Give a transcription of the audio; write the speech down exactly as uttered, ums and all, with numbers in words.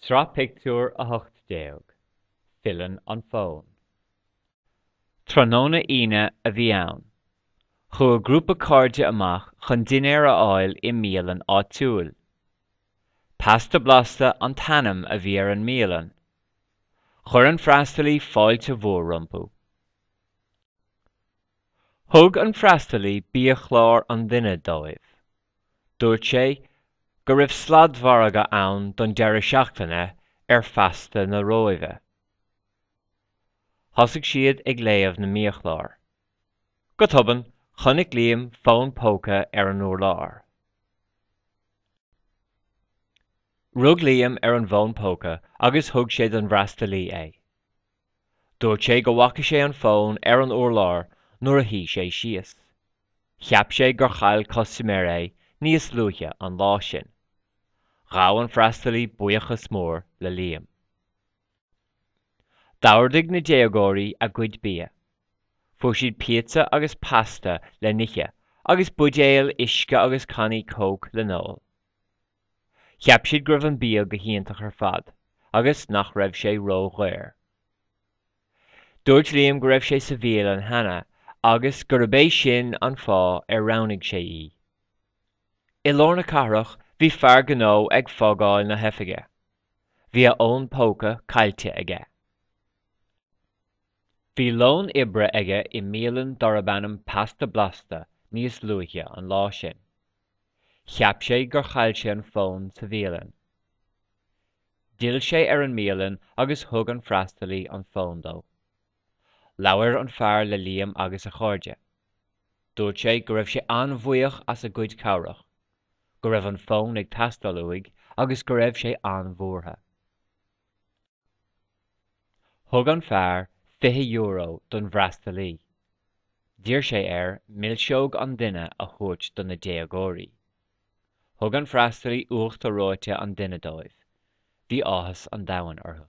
Sraith Pictiúr a hocht déag Filleann an Fón. Tráthnóna Aoine a bhí ann. Chuaigh grúpa cairde amach chun dinnéar a fháil i mbialann áitiúil. Pasta Blasta an t-ainm a bhí ar an mbialann. Chuir an freastalaí fáilte mhór rompu. Thug an freastalaí biachlár an duine dóibh. Dúirt sé go raibh sladmhargadh ann don deireadh seachtaine ar phasta na Róimhe. Thosaigh siad ag léamh na mbiachlár. Go tobann, chonaic Liam fón póca ar an urlár. Rug Liam ar an bhfón póca agus thug sé don bhfreastalaí é. Dúirt sé go bhfaca sé an fón ar an urlár nuair a shuigh sé síos. Cheap sé gur chaill custaiméir é níos luaithe an lá sin. Ghabh an freastalaí buíochas mór le Liam. D'ordaigh na déagóirí a gcuid bia. Fuair siad píotsa agus pasta le n-ithe agus buidéil uisce agus cannaí Coke le n-ól. Cheap siad go raibh an bia go hiontach ar fad agus nach raibh sé ródhaor. Dúirt Liam go raibh sé sa bhialann cheana agus gurb é sin an fáth ar roghnaigh sé í. I lár na cathrach bhí fear gnó ag fágáil na hoifige. Bhí a fhón póca caillte aige. Bhí lón oibre aige i mbialann darb ainm Pasta Blasta níos luaithe an lá sin. Cheap sé gur chaill sé an fón sa bhialann. D'fhill sé ar an mbialann agus thug an freastalaí an fón dó. Labhair an fear le Liam agus a chairde. Dúirt sé go raibh sé an-bhuíoch as a gcuid cabhrach, go raibh an fón ag teastáil uaidh agus go raibh sé an-bhuartha. Thug an fear fiche euro don bhfreastalaí. D'iarr sé air milseog an duine a thabhairt do na déagóirí. Thug an freastalaí uachtar reoite an duine dóibh. Bhí áthas an domhain orthu.